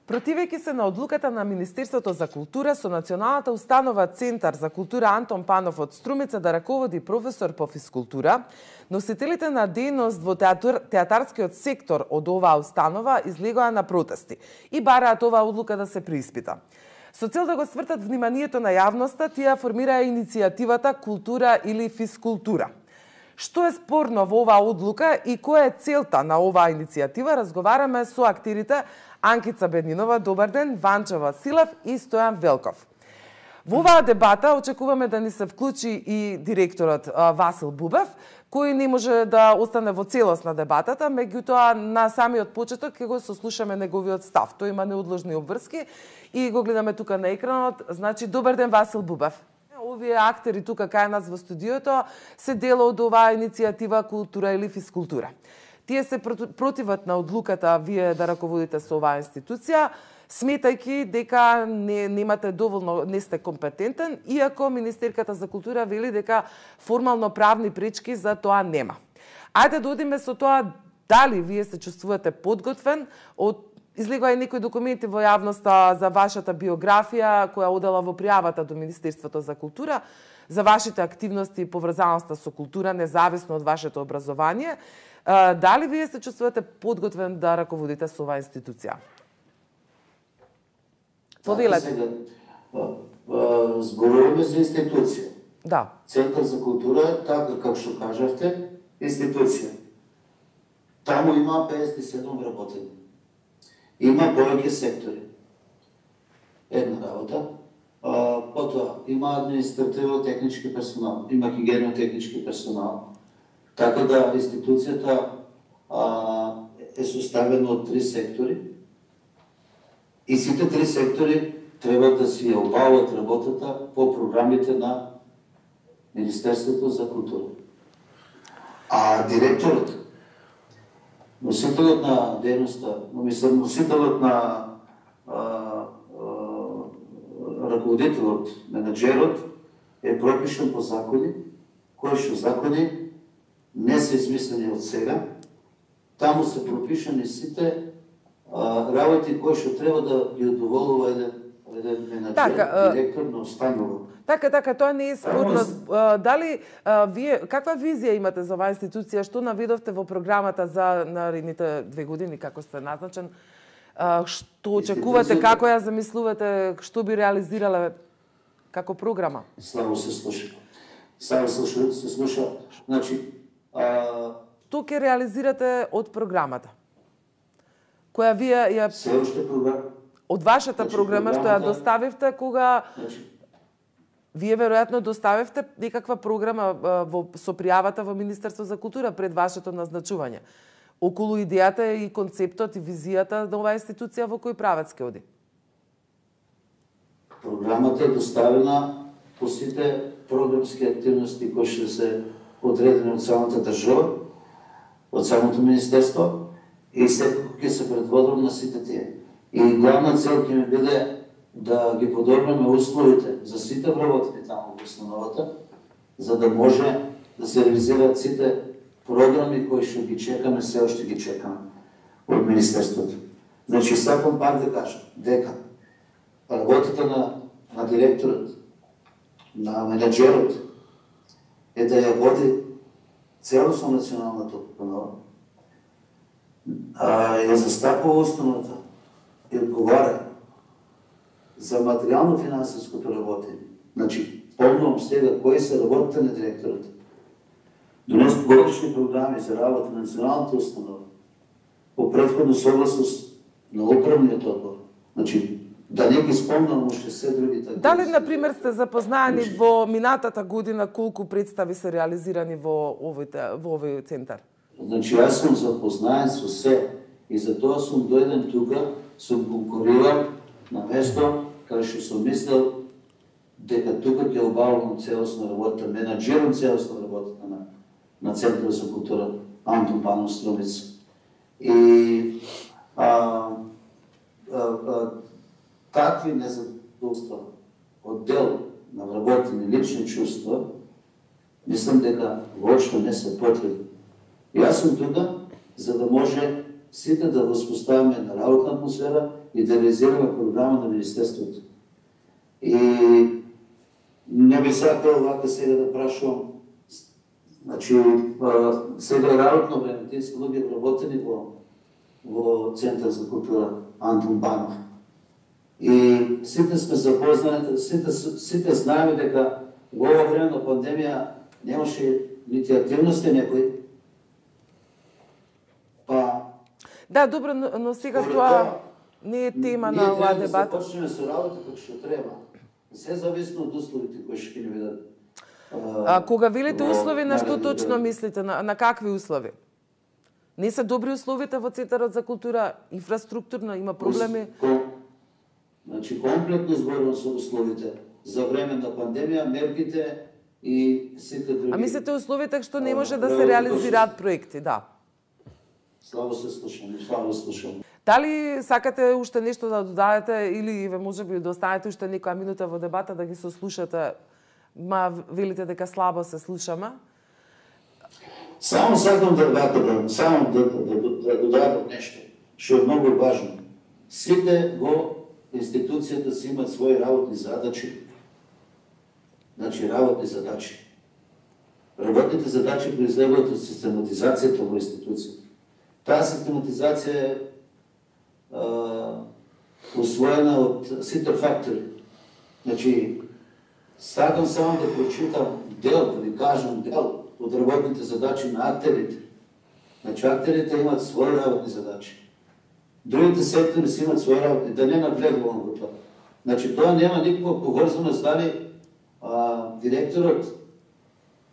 Противејќи се на одлуката на Министерството за култура, со Националната установа Центар за култура Антон Панов од Струмица да раководи професор по физкултура, носителите на дејност во театарскиот сектор од оваа установа излегоа на протести и бараат оваа одлука да се преиспита. Со цел да го свртат вниманието на јавноста, тие формираа иницијативата Култура или физкултура. Што е спорно во оваа одлука и која е целта на оваа иницијатива, разговараме со актерите Анкица Беднинова, добар ден, Ванчо Василев и Стојан Велков. Во оваа дебата очекуваме да ни се вклучи и директорот Васил Бубев, кој не може да остане во целост на дебатата, меѓутоа на самиот почеток ќе го сослушаме неговиот став. Тој има неодложни обврски и го гледаме тука на екранот. Значи, добар ден, Васил Бубев. Овие актери тука кај нас во студиото се дел од оваа иницијатива Култура или физкултура. Тие се противат на одлуката вие да раководите со оваа институција, сметајќи дека немате доволно, не сте компетентен, иако Министерката за култура вели дека формално правни пречки за тоа нема. Ајде да одиме со тоа дали вие се чувствувате подготвен од излегоа и некои документи во јавноста за вашата биографија која одела во пријавата до Министерството за култура, за вашите активности и поврзаноста со култура, независно од вашето образование. Дали вие се чувствувате подготвен да раководите со оваа институција? Повелете. Зборуваме за институција. Да. Центар за култура, така како што кажавте, институција. Таму има 57 работени. Има повеќе сектори. Една работа. Потоа, има административно-технички персонал, има хигиено-технички персонал. Така да институцијата е составена од 3 сектори и сите 3 сектори треба да си ја обават работата по програмите на Министерството за култура. А директорот, носителот на дејноста, носителот на раководителот, менаџерот е пропишан по закони, кои што закони не се измислени од сега. Таму се пропишани сите работи кои што треба да ги удоволува еден менаџер, директор на установа. Така, тоа не е спорно. Дали вие каква визија имате за оваа институција, што наведовте во програмата за наредните 2 години како сте назначен? Што очекувате, како ја замислувате, што би реализирале како програма? Слабо се слуша. Се слуша. Значи, што ќе реализирате од програмата? Која вие ја се уште програма од вашата програма што ја доставивте кога вие веројатно доставивте некаква програма со пријавата во Министерство за култура пред вашето назначување. Околу идејата и концептот и визијата на оваа институција во кој правец ќе оди? Програмата е доставена по сите програмски активности кои што се одредени од самата држава, од самото Министерство и секако ќе се предводам на сите тие. И главна цел ќе ми биде да ги подобриме условите за сите вработени таму во установата, за да може да се реализираат сите програми кои што ги чекаме, се уште ги чекаме од Министерството. Значи, сакам пак да кажам дека работата на директорот, на менаџерот е да ја води целосно националната установа, ја застапува установата и одговара за материјално-финансиското работење. Значи, помнувам сега кои се работите на директорот. Донес годишни програми за работа на националната установа по претходна согласност на управниот одбор. Значи, да не ги спомнам уште се другите. Дали, например, сте запознаени во минатата година колку представи се реализирани во овој центар? Значи, јас сум запознаен со се и затоа сум дојден тука, сум конкурирал на место каде што сум мислел дека тука ќе обавам целосна работа, менаџирам целосна работа на Центарот за култура Антон Панов Струмица. И такви незадоволства од дел на вработени лични чувства, мислам дека воопшто не се потребни. Јас сум тука за да може сите да воспоставиме една работна атмосфера и да реализираме програма на Министерството. И не би сакал вака сега да прашувам, значи, сега е работно време, тие се луѓе вработени во Центар за култура Антон Панов. И сите сме запознати, сите знаеме дека во ова време на пандемија немаше нити активности некои. Па да, добро, но сега тоа не е тема на оваа дебата. Ние треба да започнеме со работа како што треба. Се зависно од условите кои ќе ни видат. Кога велите услови, на што точно мислите? На какви услови? Не се добри условите во Центарот за култура, инфраструктурно има проблеми? Значи, комплетно зборувам со условите. За време на пандемија, мерките и сите други... А мислите условите што не може да се реализираат проекти, да? Слабо се слушам. Дали сакате уште нешто да додадете или можеби да останете уште некоја минута во дебата да ги сослушате, ма велите дека слабо се слушаме? Само сакам да додадам нешто што е многу важно. Сите во институцијата си имат своји работни задачи. Значи, работни задачи. Работните задачи произлегуваат од систематизацијата во институцијата. Таа систематизација е усвоена од сите фактори. Значи, сакам само да прочитам дел, да ви кажам дел од работните задачи на актерите. Значи, актерите имат своји работни задачи. Другите сектори си имат своји работни, да не наблегувам во тоа. Значи, тоа нема никаква поврзаност дали директорот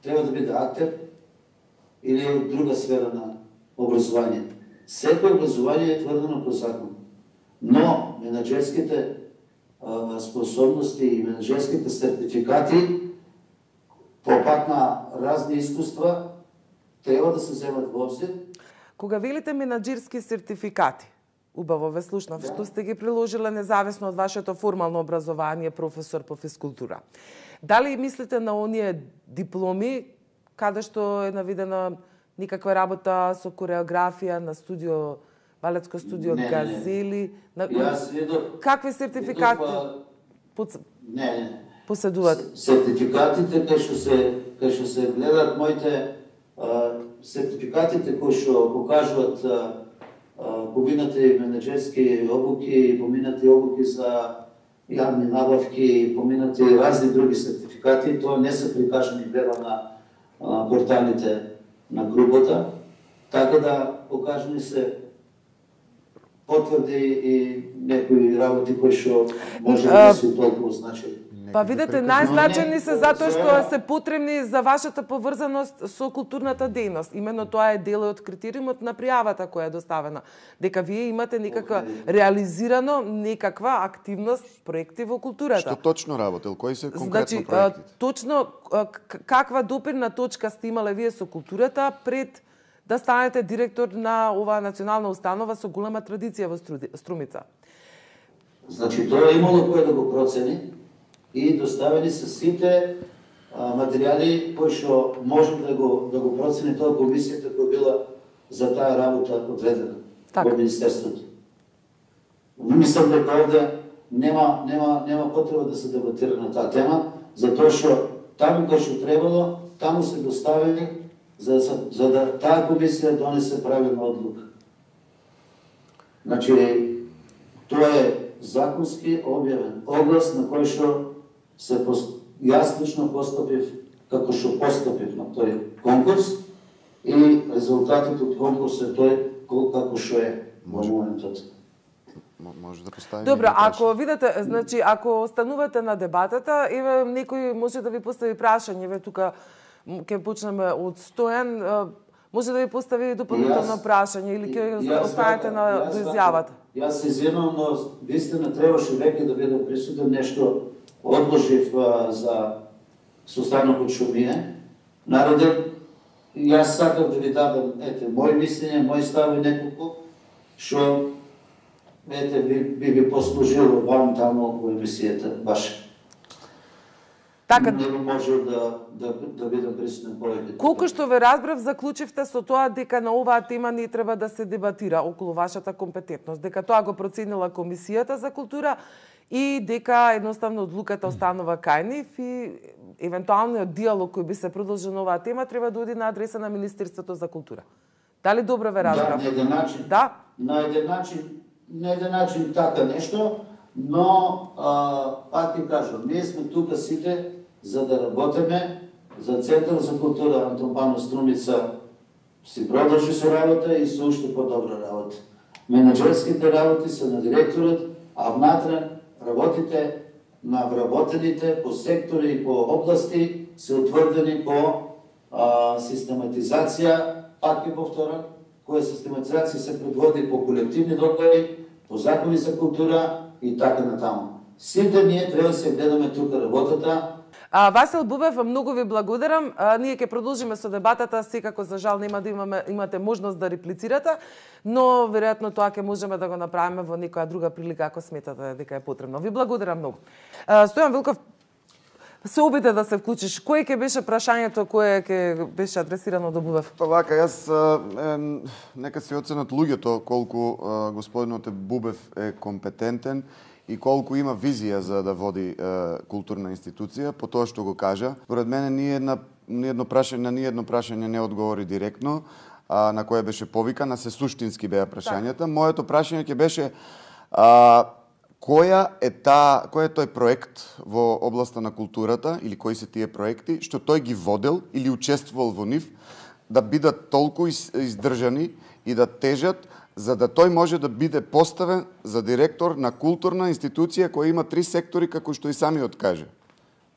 треба да биде актер или од друга сфера на образование. Секој образование е тврдено по закон. Но менаџерските способности и менаџерските сертификати по пат на разни искуства треба да се земат во обзир. Кога велите менаџерски сертификати, убаво ве слушнав, да, што сте ги приложиле независно од вашето формално образование, професор по физкултура. Дали мислите на оние дипломи каде што е наведена никаква работа со кореографија на студио, балетско студио Газели? Какви сертификати поседуват? Сертификатите кај што се гледат моите сертификатите кои што покажуваат поминати менаџерски обуки, поминати обуки за јавни набавки, поминати разни други сертификати, тоа не се прикажани гледам на порталите на групата, така да покажани се потврди и некои работи кои што може да се толку значени. Па видете, најзначени се затоа што се потребни за вашата поврзаност со културната дејност. Именно тоа е дел од критериумот на пријавата која е доставена. Дека вие имате некаква реализирано некаква активност, проекти во културата. Што точно работел? Кои се конкретно проектите? Точно каква допирна точка сте имале вие со културата пред да станете директор на оваа национална установа со голема традиција во Струмица? Значи, тоа имало кој да го процени и доставени се сите материјали кои што може да го процени тоа комисијата која била за таа работа одредена во Министерството. Мислам дека овде нема потреба да се дебатира на таа тема, затоа што таму кај што требало, таму се доставени за да таа комисија донесе правилна одлука. Значи, тоа е законски објавен оглас на кој што јас лично постапив како што постапив на тој конкурс и резултатот од конкурсот е тој како што е во моментот. Може да поставиме. Добро, ако видите, значи ако останувате на дебатата, еве некој може да ви постави прашање, еве тука ќе почнеме од Стојан, може да ви постави дополнително прашање или ќе останете на изјавата. Јас се извинувам, но вистина требаше веќе да бидам присутен, нешто одложив за состанокот што ми е нареден. Јас сакав да ви дадам мој мислење, мој став и неколку што би послужило вам таму во емисијата ваша. Така, не може да бидам присутен повеќе. Колку што ве разбрав, заклучивте со тоа дека на оваа тема не треба да се дебатира околу вашата компетентност, дека тоа го проценила Комисијата за култура и дека едноставно одлуката останува кај нив и евентуалниот диалог кој би се продолжил на оваа тема треба да оди на адреса на Министерството за култура. Дали добро ве разбрав? Да, на еден начин. Да? На еден начин така нешто, но пак ти кажам, ние сме тука сите за да работиме за Центар за култура Антон Панов Струмица си продолжи со работа и со уште подобра работа. Менаџерските работи се на директорот, а внатре работите на вработените по сектори и по области се утврдени по систематизација, пак ќе повторам, која систематизација се предводи по колективни договори, по закони за култура и така натаму. Сите ние треба да се гледаме тука работата. Васил Бубев, многу ви благодарам. Ние ќе продолжиме со дебатата, секако за жал нема да имате можност да реплицирате, но веројатно тоа ќе можеме да го направиме во некоја друга прилика ако сметате дека е потребно. Ви благодарам многу. Стојан Вилков, се обиде да се вклучиш. Кој ќе беше прашањето кое ќе беше адресирано до Бубев? Па вака, јас нека се оценат луѓето колку господинот Бубев е компетентен и колку има визија за да води културна институција, по тоа што го кажа. Според мене ни едно прашање не одговори директно, на кое беше повикан, а се суштински беа прашањата. Моето прашање ќе беше кој е тој проект во областа на културата или кои се тие проекти што тој ги водел или учествувал во нив да бидат толку издржани и да тежат за да тој може да биде поставен за директор на културна институција која има 3 сектори како што и самиот каже.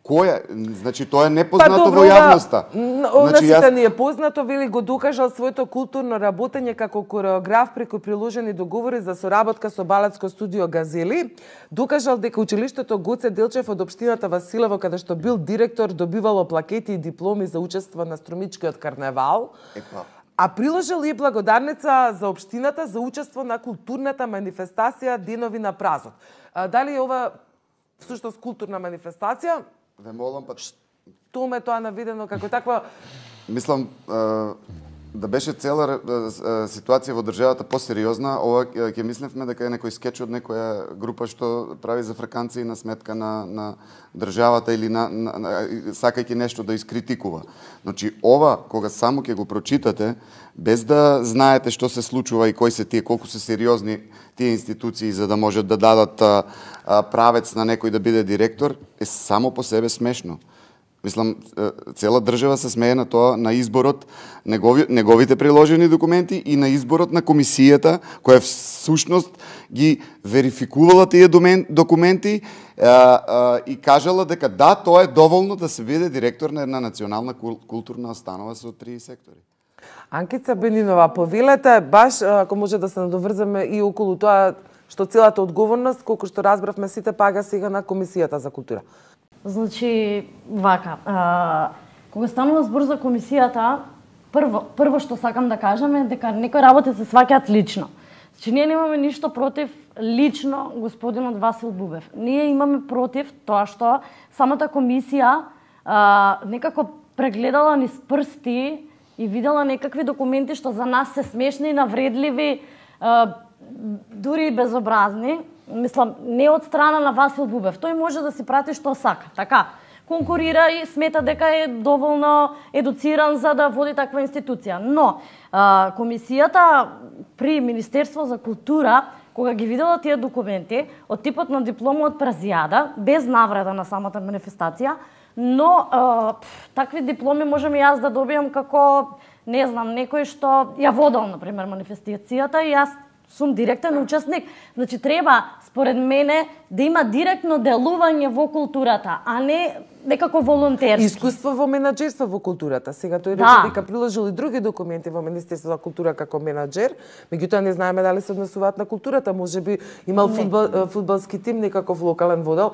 Која? Значи тоа е непознато во јавноста. Значи ни е познато, вели го докажал своето културно работење како кореограф преку приложени договори за соработка со балетско студио Газели. Докажал дека училиштето Гоце Делчев од општината Василево, каде што бил директор, добивало плакети и дипломи за учество на Струмичкиот карневал. А приложил и благодарница за општината за учество на културната манифестација Денови на празот. Дали е ова всушност културна манифестација? Ве молам, па Што ме тоа навидено како таква? Мислам да беше цела ситуација во државата посериозна, ова ќе мислевме дека е некој скеч од некоја група што прави зафрканци на сметка на државата или сакајќи нешто да искритикува. Значи ова кога само ќе го прочитате без да знаете што се случува и кои се тие, колку се сериозни тие институции за да можат да дадат правец на некој да биде директор, е само по себе смешно. Мислам, цела држава се смее на тоа, на изборот, неговите приложени документи и на изборот на комисијата, која всушност ги верификувала тие документи и кажала дека да, тоа е доволно да се биде директор на една национална културна установа со 3 сектори. Анкица Бенинова, повелете, баш ако може да се надоврземе и околу тоа што целата одговорност, колку што разбравме сите, пага сега на Комисијата за култура. Значи, вака, кога станува збор за комисијата, прво што сакам да кажам е дека некои работи се сваќаат лично. Значи, ние немаме ништо против лично господинот Васил Бубев. Ние имаме против тоа што самата комисија некако прегледала низ прсти и видела некакви документи што за нас се смешни, навредливи, дури и безобразни. Мислам, не од страна на Васил Бубев. Тој може да си прати што сака. Така, конкурира и смета дека е доволно едуциран за да води таква институција. Но, комисијата при Министерство за култура, кога ги видела тие документи, од типот на диплома од Празијада, без навреда на самата манифестација, но такви дипломи можам и јас да добијам како, не знам, некој што ја водел, например, манифестацијата и јас сум директен учесник. Значи, треба, според мене, да има директно делување во културата, а не некако волонтерски. Искуство во менаџерство во културата. Сега тој рече дека приложил и други документи во Министерството за култура како менаџер, меѓутоа не знаеме дали се однесуваат на културата. Можеби имал фудбалски тим некаков локален водел.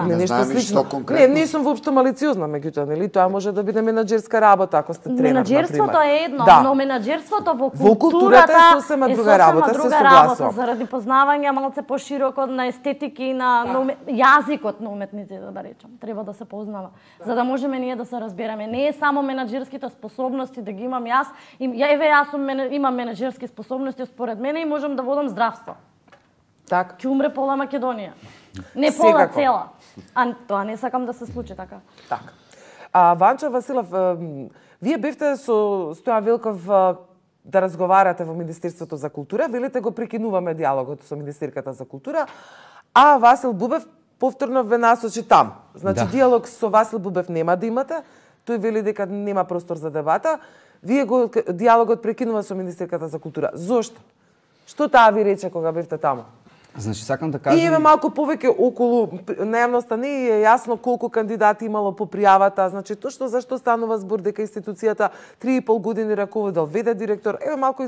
Не нешто слично. Не сум воопшто малициозна, меѓутоа, нели, тоа може да биде менаџерска работа ако сте тренер, например. Менаџерството е едно, но менаџерството во културата е сосема друга работа, се согласувам. Заради познавање малце пошироко на естетики и на јазикот на уметниците, да речам. Треба да се позна запознава. За да можеме ние да се разбереме. Не е само менаџерските способности да ги имам јас. Јас имам менаџерски способности според мене и можам да водам здравство. Так. Ќе умре пола Македонија. Не пола, цела. А тоа не сакам да се случи така. Така. Ванчо Василов, вие бевте со Стојан Велков да разговарате во Министерството за култура, велите го прекинуваме диалогот со Министерката за култура, а Васил Бубев повторно ве насочи там. Значи, диалог со Васил Бубев нема да имате, тој вели дека нема простор за дебата, вие го диалогот прекинува со Министерката за култура. Зошто? Што таа ви рече кога бевте таму? Значи, сакам да кажам... И еве малку повеќе околу најавноста не е јасно колку кандидати имало по пријавата, значи точно зашто станува збор дека институцијата 3,5 години раководел ВД директор. Еве малку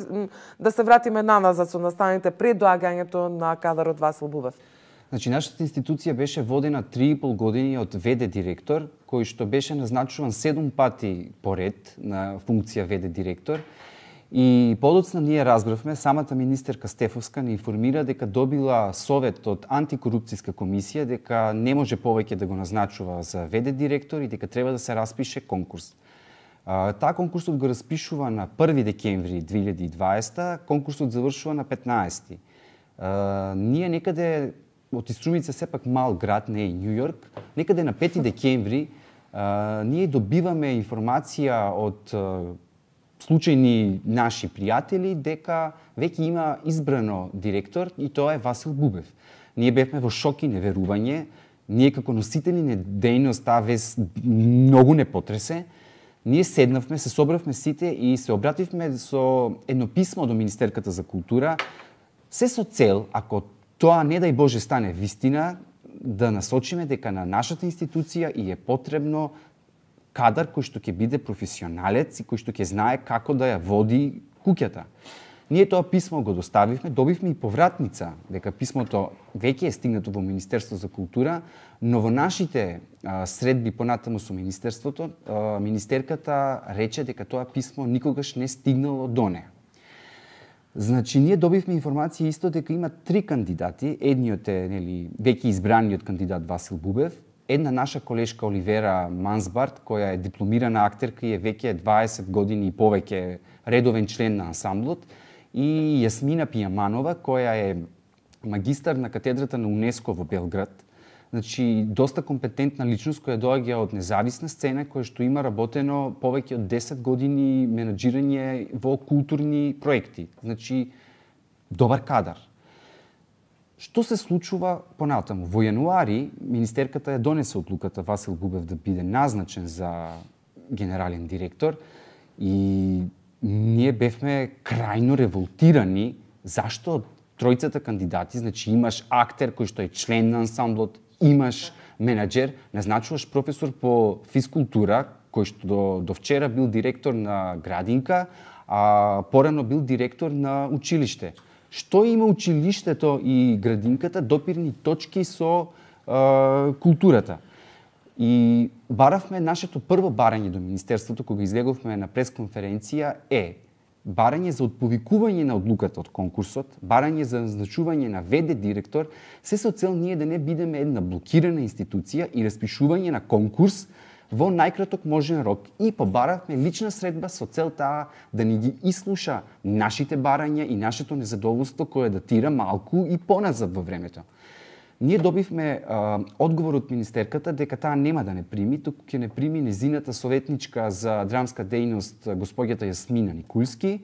да се вратиме наназад со настаните пред доаѓањето на кадарот Васил Бубев. Значи, нашата институција беше водена 3,5 години од ВД директор, кој што беше назначуван 7 пати поред на функција ВД директор. И подоцна ние разбравме, самата министерка Стефовска ни информира дека добила совет од антикорупцијска комисија дека не може повеќе да го назначува за ВД директор и дека треба да се распише конкурс. Таа конкурсот го распишува на 1 декември 2020, конкурсот завршува на 15. Ние некаде од Струмица сепак мал град, не е Њу Јорк, некаде на 5 декември ние добиваме информација од случајни наши пријатели дека веќе има избрано директор и тоа е Васил Бубев. Ние бевме во шок и неверување. Ние како носители на дејност таа вест многу не потресе. Ние седнавме, се собравме сите и се обративме со едно писмо до Министерката за култура, се со цел, ако тоа не дај Боже стане вистина, да насочиме дека на нашата институција и е потребно кадар кој што ќе биде професионалец и кој што ќе знае како да ја води куќата. Ние тоа писмо го доставивме, добивме и повратница дека писмото веќе е стигнато во Министерство за култура, но во нашите средби понатаму со Министерството, министерката рече дека тоа писмо никогаш не стигнало до неа. Значи, ние добивме информација исто дека има 3 кандидати, едниот е веќе избраниот кандидат Васил Бубев, една наша колешка Оливера Мансбарт, која е дипломирана актерка и е веќе 20 години и повеќе редовен член на ансамблот, и Јасмина Пијаманова, која е магистар на катедрата на УНЕСКО во Белград. Значи, доста компетентна личност која доаѓа од независна сцена, која што има работено повеќе од 10 години менаџирање во културни проекти. Значи, добар кадар. Што се случува понатаму? Во јануари министерката ја донесе одлуката Васил Бубев да биде назначен за генерален директор и ние бевме крајно револтирани зашто тројцата кандидати, значи имаш актер кој што е член на ансамблот, имаш менаџер, назначуваш професор по физкултура кој што до вчера бил директор на градинка, а порано бил директор на училиште. Што има училиштето и градинката допирни точки со културата. И баравме нашето прво барање до Министерството, кога излеговме на пресконференција, е барање за отповикување на одлуката од конкурсот, барање за назначување на ВД директор, се со цел ние да не бидеме една блокирана институција и распишување на конкурс во најкраток можен рок, и побаравме лична средба со цел таа да ни ги ислуша нашите барања и нашето незадоволство кое датира малку и поназад во времето. Ние добивме одговор од министерката дека таа нема да не прими, туку ќе не прими незината советничка за драмска дејност госпоѓата Јасмина Никулски.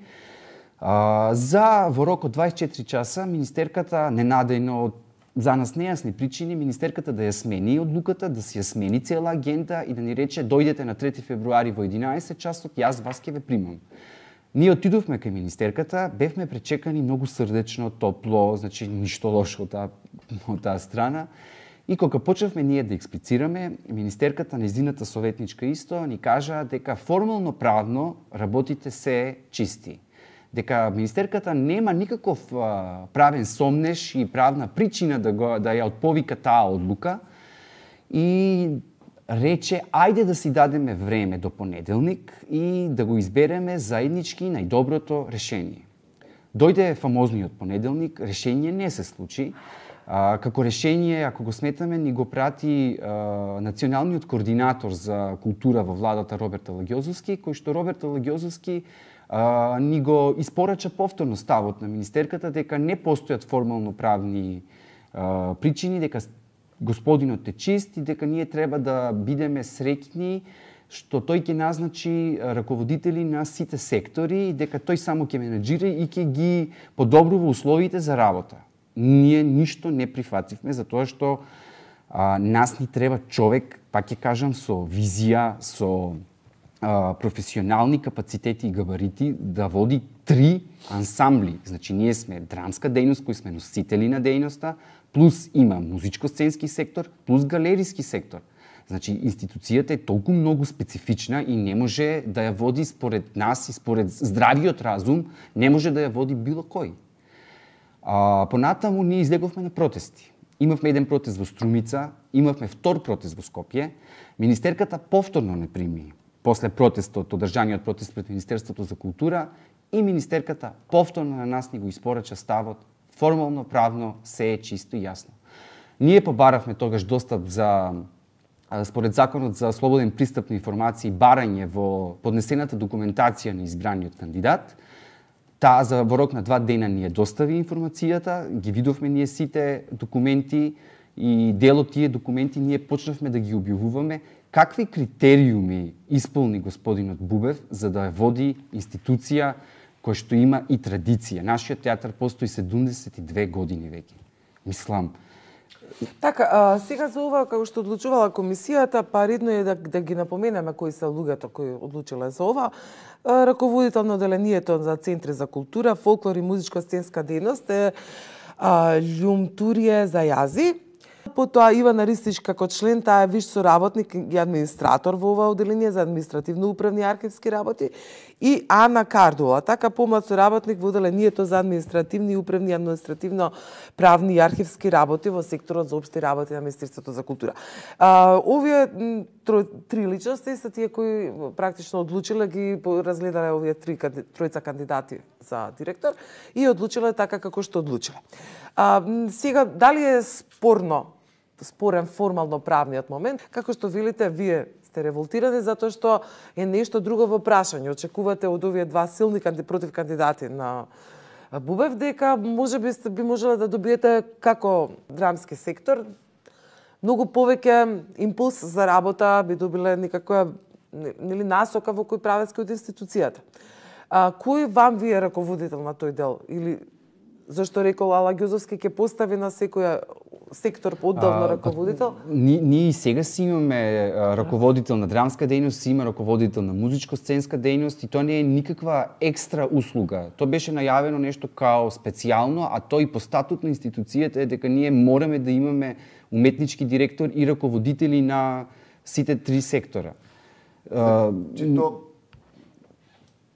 За во рок од 24 часа министерката ненадејно од за нас нејасни причини министерката да ја смени одлуката, да си ја смени цела агенда и да ни рече дојдете на 3 февруари во 11 часот, јас вас ќе ве примам. Ние отидовме кај министерката, бевме пречекани многу срдечно, топло, значи ништо лошо од таа страна. И кога почнавме ние да експлицираме, министерката, нејзината советничка исто, ни кажа дека формално правно работите се чисти. Дека министерката нема никаков правен сомнеш и правна причина да ја отповика таа одлука и рече ајде да си дадеме време до понеделник и да го избереме заеднички најдоброто решение. Дојде фамозниот понеделник, решение не се случи. Како решение, ако го сметаме, ни го прати националниот координатор за култура во владата Роберт Алагјозовски, кој што Роберт Алагјозовски ни го испорача повторно ставот на министерката дека не постојат формално правни причини, дека господинот е чист и дека ние треба да бидеме среќни што тој ќе назначи раководители на сите сектори и дека тој само ќе менаџира и ќе ги подобрува условите за работа. Ние ништо не прифативме затоа што нас ни треба човек, пак ќе кажам, со визија, со професионални капацитети и габарити да води 3 ансамбли. Значи ние сме драмска дејност кои сме носители на дејноста, плюс има музичко-сценски сектор, плюс галериски сектор. Значи, институцијата е толку многу специфична и не може да ја води според нас и според здравиот разум, не може да ја води било кој. Понатаму ние излеговме на протести. Имавме еден протест во Струмица, имавме втор протест во Скопје. Министерката повторно не прими после протестот, одржаниот протест пред Министерството за култура и министерката повторно на нас ни го испорача ставот. Формално, правно, се е чисто и јасно. Ние побаравме тогаш достап за според Законот за слободен пристап на информации, барање во поднесената документација на избраниот кандидат. Таа за во рок на 2 дена ни ја достави информацијата, ги видовме ние сите документи и дел од тие документи ние почнавме да ги објавуваме. Какви критериуми исполни господинот Бубев за да ја води институција која што има и традиција? Нашиот театар постои 72 години веќе. Мислам, така, сега за ова, како што одлучувала комисијата, па редно е да ги напоменеме кои се луѓето кои одлучиле за ова. Раководител на одделението за Центри за култура, фолклор и музичко-сценска дејност е Љумтурие Зајази. Потоа Ивана Ристич како член, таа е виш соработник и администратор во ова одделение за административно-управни архивски работи, и Ана Кардула, така помлад соработник во одделението за административни и управни административно-правни и архивски работи во секторот за општи работи на Министерството за култура. Овие 3 личности се тие кои практично одлучиле, ги разгледале овие тројца кандидати за директор и одлучиле така како што одлучиле. Сега, дали е спорен формално правниот момент, како што велите, вие сте револтирани затоа што е нешто друго во прашање. Очекувате од овие 2 силни против кандидати на Бубев дека би можеле да добиете како драмски сектор многу повеќе импулс за работа, би добиле некаква насока во кој правецки од институцијата. Кој вам ви е раководител на тој дел? Или зашто рекол Алагјозовски ќе постави на секоја сектор одделно раководител? Ние и сега си имаме раководител на драмска дејност, си има раководител на музичко-сценска дејност и тоа не е никаква екстра услуга. Тоа беше најавено нешто као специјално, а тоа и по статут на институцијата е дека ние мораме да имаме уметнички директор и раководители на сите 3 сектора.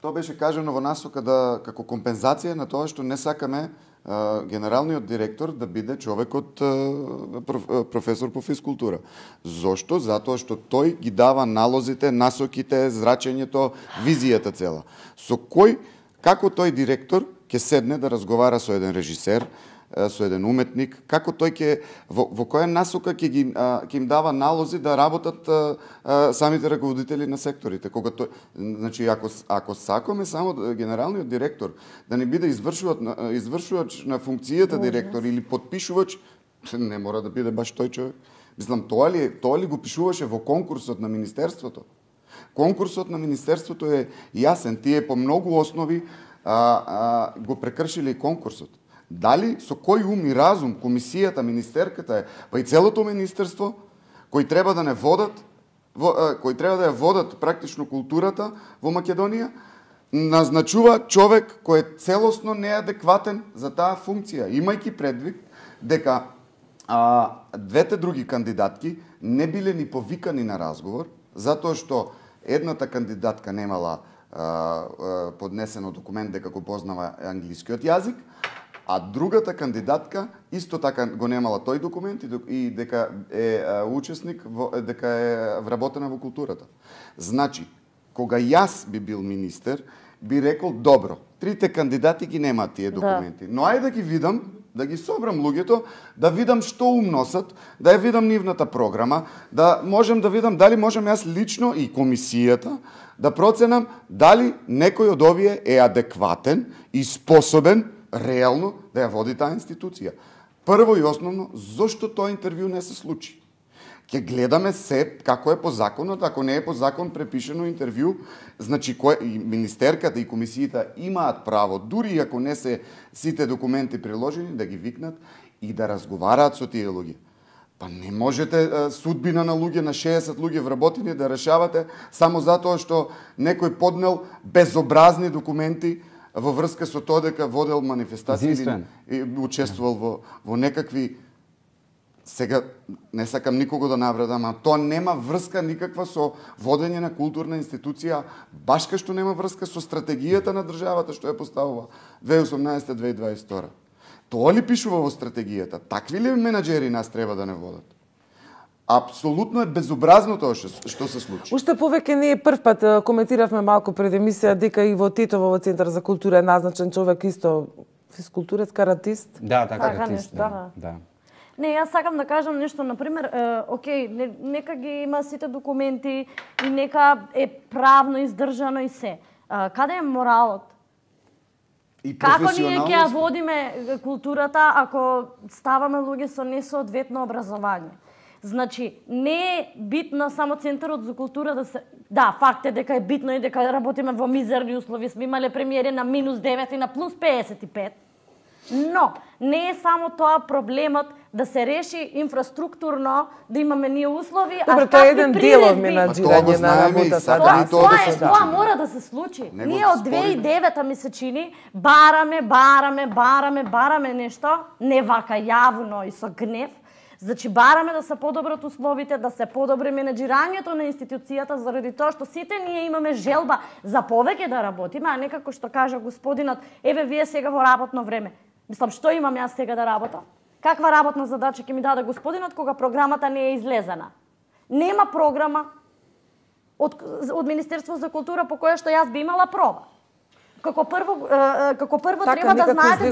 Тоа беше кажано во насока да како компензација на тоа што не сакаме генералниот директор да биде човек од професор по физкултура. Зошто? Затоа што тој ги дава налозите, насоките, зрачењето, визијата цела. Со кој, како тој директор ќе седне да разговара со еден режисер, со еден уметник, како тој ќе во која насока ќе им дава налози да работат самите раководители на секторите. Кога тој, значи ако сакаме само генералниот директор да не биде извршувач на функцијата директор или подпишувач, не мора да биде баш тој човек. Мислам, тоа ли го пишуваше во конкурсот на министерството? Конкурсот на министерството е јасен, тие по многу основи го прекршиле и конкурсот. Дали со кој ум и разум комисијата, министерката, па и целото министерство кои треба да ја водат практично културата во Македонија, назначува човек кој е целосно неадекватен за таа функција, имајќи предвид дека двете други кандидатки не биле ни повикани на разговор, затоа што едната кандидатка немала поднесено документ дека го познава англискиот јазик, а другата кандидатка исто така го немала тој документ и дека е учесник, дека е вработена во културата. Значи, кога јас би бил министер, би рекол, добро, 3 кандидати ги немаат тие документи, но ајде да ги видам да ги собрам луѓето, да видам што умносат, да ја видам нивната програма, да можем да видам дали можем јас лично и комисијата да проценам дали некој од овие е адекватен и способен реално да ја води таа институција. Прво и основно, зошто тоа интервју не се случи? Ќе гледаме се како е по законот, ако не е по закон препишено интервју, значи и министерката и комисијата имаат право, дури ако не се сите документи приложени, да ги викнат и да разговараат со тие луѓе. Па не можете судбина на луѓе, на 60 луѓе вработени да решавате само затоа што некој поднел безобразни документи во врска со тоа дека водел манифестации и учествувал во некакви. Сега не сакам никого да навредам, а тоа нема врска никаква со водење на културна институција, баш кај што нема врска со стратегијата на државата што ја поставува 2018-2022. Тоа ли пишува во стратегијата? Такви ли менаџери нас треба да не водат? Апсолутно е безобразно тоа што се случи. Уште повеќе ние прв пат коментиравме малку пред емисија дека и во Титово во Центар за култура е назначен човек исто физкултурец, каратист. Да, каратист. Да. Не, јас сакам да кажам нешто, например, окей, нека ги има сите документи и нека е правно издржано и се. Каде е моралот? И Како ние ќе ја водиме културата ако ставаме луѓе со несоодветно образование? Значи, не е битно само Центарот за култура да се... Да, факт е дека е битно и дека работиме во мизерни услови. Сме имале премиери на -9 и на +55. Но, не е само тоа проблемот да се реши инфраструктурно, да имаме ние услови, добре, тоа е еден дел од менаџирање на работата. Тоа мора да се случи. Ние од 2009 ми се чини, бараме нешто, не вака јавно и со гнев. Значи, бараме да се подобрат условите, да се подобри менаџирањето на институцијата, заради тоа што сите ние имаме желба за повеќе да работиме, а не како што кажа господинот, еве вие сега во работно време. Мислам, што имам јас сега да работам? Каква работна задача ќе ми даде господинот кога програмата не е излезена? Нема програма од Министерство за култура по која што јас би имала проба. Како прво треба да знаете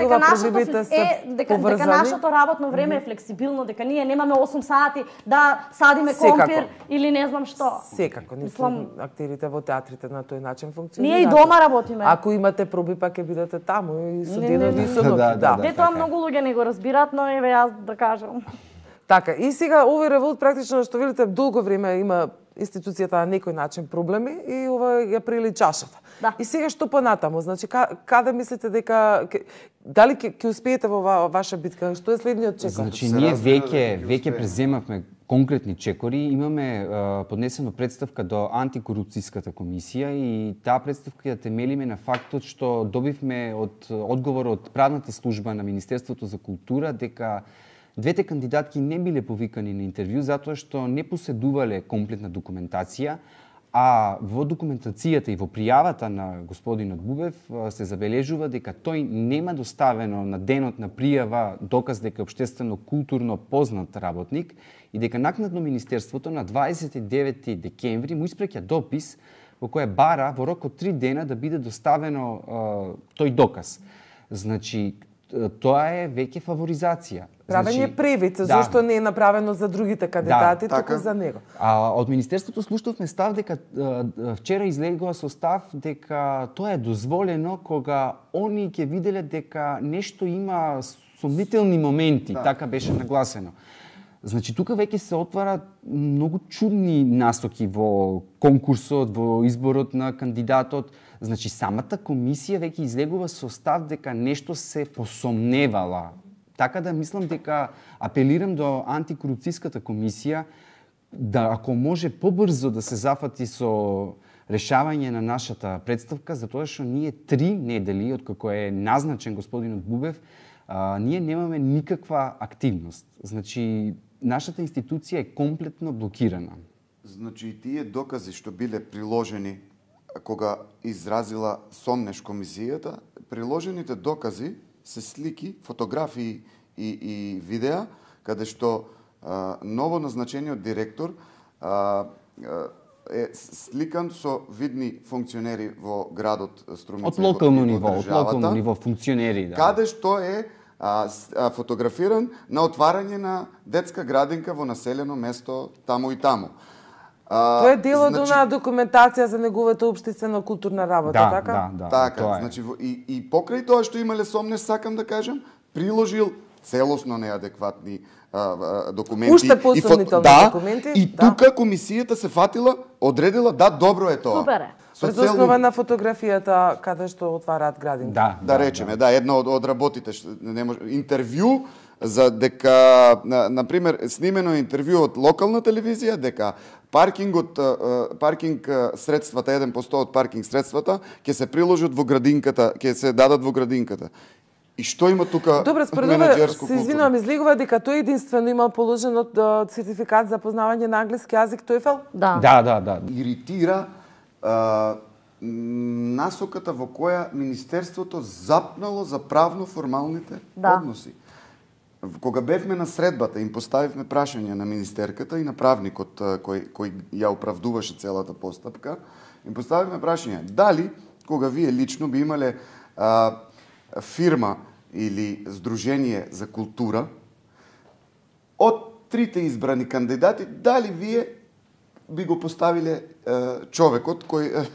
дека нашето работно време е флексибилно, дека ние немаме 8 сати да садиме компир или не знам што. Секако, актерите во театрите на тој начин функционираат. Ние и дома работиме. Ако имате проби, па ќе бидете таму и со денови и со ноќи. Да, тоа многу луѓе не го разбираат, но еве јас да кажам. Така, и сега овој револт практично што видите долго време има институцијата на некој начин проблеми и ова ја прили чашата. Да. И сега што понатаму? Значи, каде мислите дека дали ќе успеете во ваша битка? Што е следниот чекор? Значи, ние веќе преземавме конкретни чекори, имаме поднесено представка до антикорупцијската комисија и таа представка ја темелиме на фактот што добивме од одговор од правната служба на Министерството за култура дека двете кандидатки не биле повикани на интервју затоа што не поседувале комплетна документација, а во документацијата и во пријавата на господинот Бубев се забележува дека тој нема доставено на денот на пријава доказ дека е општествено културно познат работник и дека накнадно Министерството на 29 декември му испраќа допис во кој бара во рок од 3 дена да биде доставено тој доказ. Значи, тоа е веќе фаворизација. Правење превид, зашто не е направено за другите кандидати, туку за него. А од Министерството слушнавме став дека вчера излегува со став дека тоа е дозволено кога они ќе виделе дека нешто има сомнителни моменти, така беше нагласено. Значи, тука веќе се отварат многу чудни насоки во конкурсот, во изборот на кандидатот. Значи, самата комисија веќе излегува со став дека нешто се посомневала. Така да мислам дека апелирам до антикорупцијската комисија да, ако може побрзо да се зафати со решавање на нашата представка, затоа што ние 3 недели, откако е назначен господинот Бубев, ние немаме никаква активност. Значи, нашата институција е комплетно блокирана. Значи, тие докази што биле приложени кога изразила сомнеш комисијата, приложените докази се слики, фотографии и видеа, каде што ново назначениот директор е сликан со видни функционери во градот Струмица. Од локално ниво функционери, да. Каде што е фотографиран на отварање на детска градинка во населено место таму и таму. Тоа е дел од онаа документација за неговата општествено-културна работа, така? Да, така, тоа е. значи и покрај тоа што имале сомнеш, сакам да кажам, приложил целосно неадекватни документи. Уште посомнителни документи. И тука комисијата се фатила, одредила да, добро е тоа. Супер е. Пред основа на фотографијата каде што отвараат градинка. Да речеме, една од работите, не може, интервју за дека, например, снимено интервју од локална телевизија, дека паркинг средствата, 1% од паркинг средствата ќе се приложат во градинката, ќе се дадат во градинката. И што има тука Добре, според ова, се извинувам, излегува дека тој единствено имал положен од сертификат за познавање на англиски јазик TOEFL? Да. Иритира насоката во која Министерството запнало за правно-формалните односи. Кога бевме на средбата, им поставивме прашање на министерката и на правникот кој ја оправдуваше целата постапка, им поставивме прашање дали, кога вие лично би имале фирма или здружение за култура, од трите избрани кандидати, дали вие би го поставиле човекот кој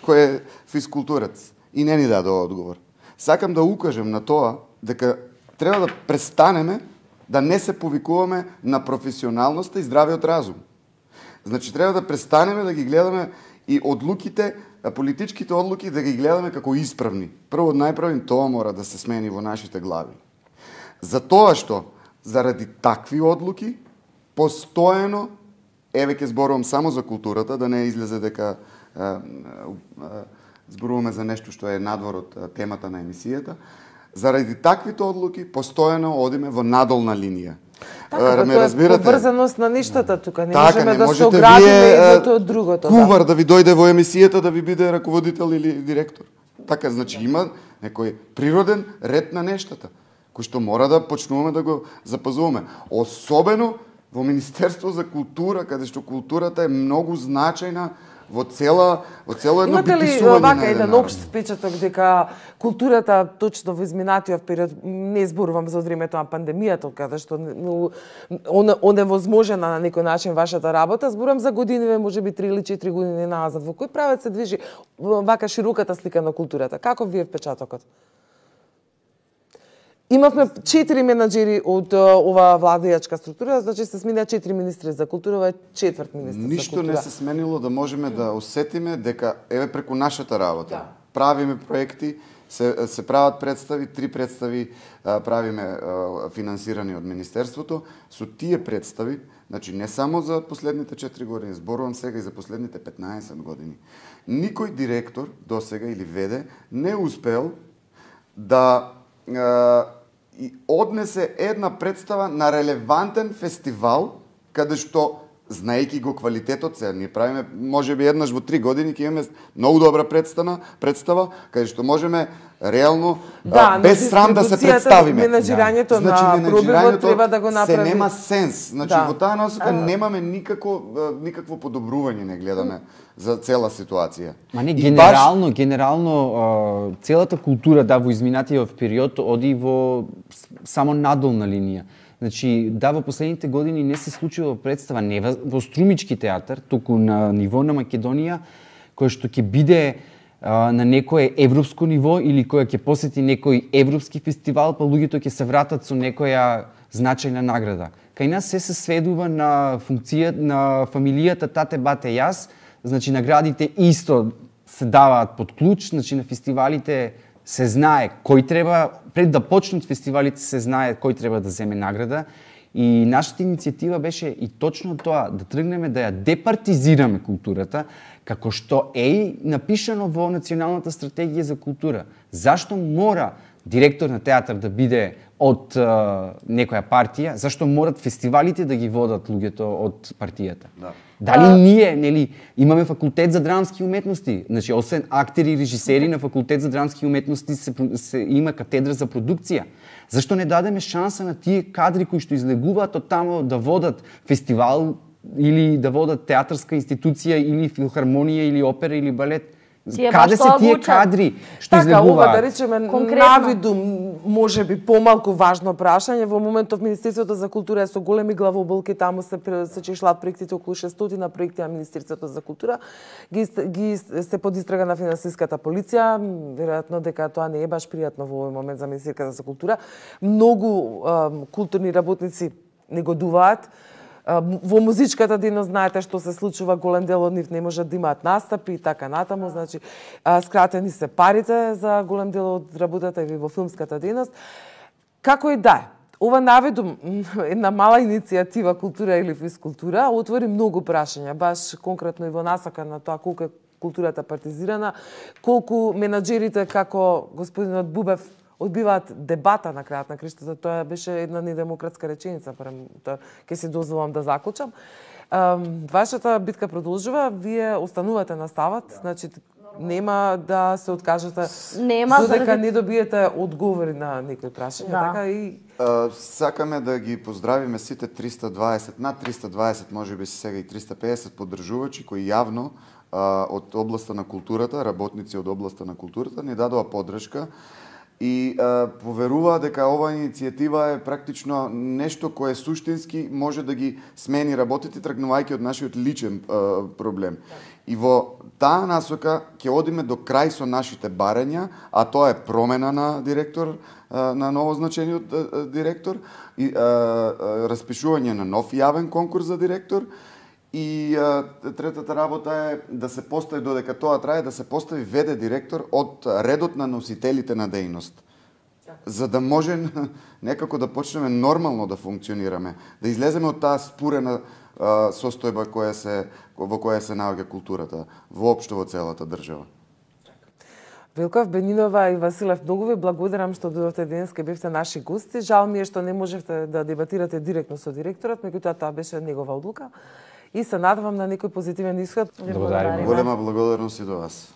е физкултурец? И не ни даде одговор. Сакам да укажем на тоа дека треба да престанеме да не се повикуваме на професионалноста и здравиот разум. Значи, треба да престанеме да ги гледаме и одлуките, политичките одлуки, да ги гледаме како исправни. Прво, најправим, тоа мора да се смени во нашите глави. Затоа што, заради такви одлуки, постојано, еве ќе зборувам само за културата, да не излезе дека зборуваме за нешто што е надвор од темата на емисијата, заради таквите одлуки, постојано одиме во надолна линија. Така, тоа е поврзаност на нештата тука. Не можеме да се оградиме едното од другото. Кувар да ви дојде во емисијата да ви биде раководител или директор. Така, значи има некој природен ред на нештата, кој што мора да почнуваме да го запазуваме. Особено во Министерство за култура, каде што културата е многу значајна во цело едно битисување. Имате ли вака еден општ впечаток дека културата точно во изминатиот период, не зборувам за времето на пандемијата, каде што оневозможена на некој начин вашата работа, зборувам за годиниве, можеби 3 или 4 години назад, во кој правец се движи вака широката слика на културата? Каков ви е впечатокот? Имавме 4 менаџери од ова владеачка структура, значи се смена 4 министри за култура, ова е 4 министри за култура. Ништо не се сменило да можеме да осетиме дека еве преку нашата работа. Правиме проекти, се прават представи, 3 представи правиме финансирани од Министерството. Со тие представи, значи не само за последните 4 години, зборувам сега и за последните 15 години, никој директор досега или веде не успел да и однесе една представа на релевантен фестивал, каде што, знаејќи го квалитетот, сега ние правиме, можеби еднаш во 3 години ќе имаме многу добра представа, каде што можеме реално, без срам да се представиме. Менаџирањето на пробивот треба да го направи. Се нема сенс. Значи, во таа насока немаме никакво подобрување, не гледаме за цела ситуација. Ма не, генерално, целата култура, во изминатиот период оди во само надолна линија. Значи, во последните години не се случува представа не во Струмички театар, туку на ниво на Македонија, кој што ќе биде на некое европско ниво или која ќе посети некој европски фестивал, па луѓето ќе се вратат со некоја значајна награда. Кај нас се сведува на функција на фамилијата тате, бате, јас, значи наградите исто се даваат под клуч, значи на фестивалите се знае кој треба, пред да почнат фестивалите се знае кој треба да земе награда. И нашата иницијатива беше и точно тоа, да тргнеме да ја департизираме културата, како што е напишано во Националната стратегија за култура. Зашто мора директор на театар да биде од некоја партија? Зашто морат фестивалите да ги водат луѓето од партијата? Дали ние, имаме факултет за драмски уметности, значи освен актери и режисери на факултет за драмски уметности има катедра за продукција. Зашто не дадеме шанса на тие кадри кои што излегуваат од таму да водат фестивал или да водат театарска институција или филхармонија или опера или балет? Каде се тие кадри што така, ова излегуваат? да речеме Конкретно. навидум можеби помалку важно прашање. Во моментов Министерството за култура е со големи главоболки, таму се чешлат проектите, околу 600 проекти на Министерството за култура. Ги се под истрага на финансиската полиција, веројатно дека тоа не е баш пријатно во овој момент за Министерството за култура. Многу културни работници негодуваат. Во музичката дејност знаете што се случува, голем дел од нив не можат да имаат настапи и така натаму, значи скратени се парите за голем дел од работата и во филмската дејност. Како и да е, ова наведум една мала иницијатива култура или физкултура отвори многу прашања, баш конкретно и во насака на тоа колку е културата партизирана, колку менаџерите како господинот Бубев одбиваат дебата на крајот на криштата. Тоа беше една недемократска реченица, ќе си дозволам да заклучам. Вашата битка продолжува, вие останувате на ставот, значи нема да се откажете додека не добиете одговори на некои прашања, така и сакаме да ги поздравиме сите 320, над 320, можеби сега и 350 поддржувачи кои јавно од областа на културата, работници од областа на културата ни дадоа поддршка и поверуваа дека ова иницијатива е практично нешто кое суштински може да ги смени работите, тргнувајќи од нашиот личен проблем. И во таа насока ќе одиме до крај со нашите барања, а тоа е промена на директор, на новозначениот директор, и распишување на нов јавен конкурс за директор. И третата работа е да се постави, додека тоа трае, да се постави ВД директор од редот на носителите на дејност. За да може некако да почнеме нормално да функционираме, да излеземе од таа спурена состојба во која се наоѓа културата, воопшто во целата држава. Велков, Бенинова и Василев, многу ви благодарам што дојдовте денес, ке бевте наши гости. Жал ми е што не можевте да дебатирате директно со директорот, меѓутоа тоа беше негова одлука. И се надевам на некој позитивен исход. Благодарим. Голема благодарност и до вас.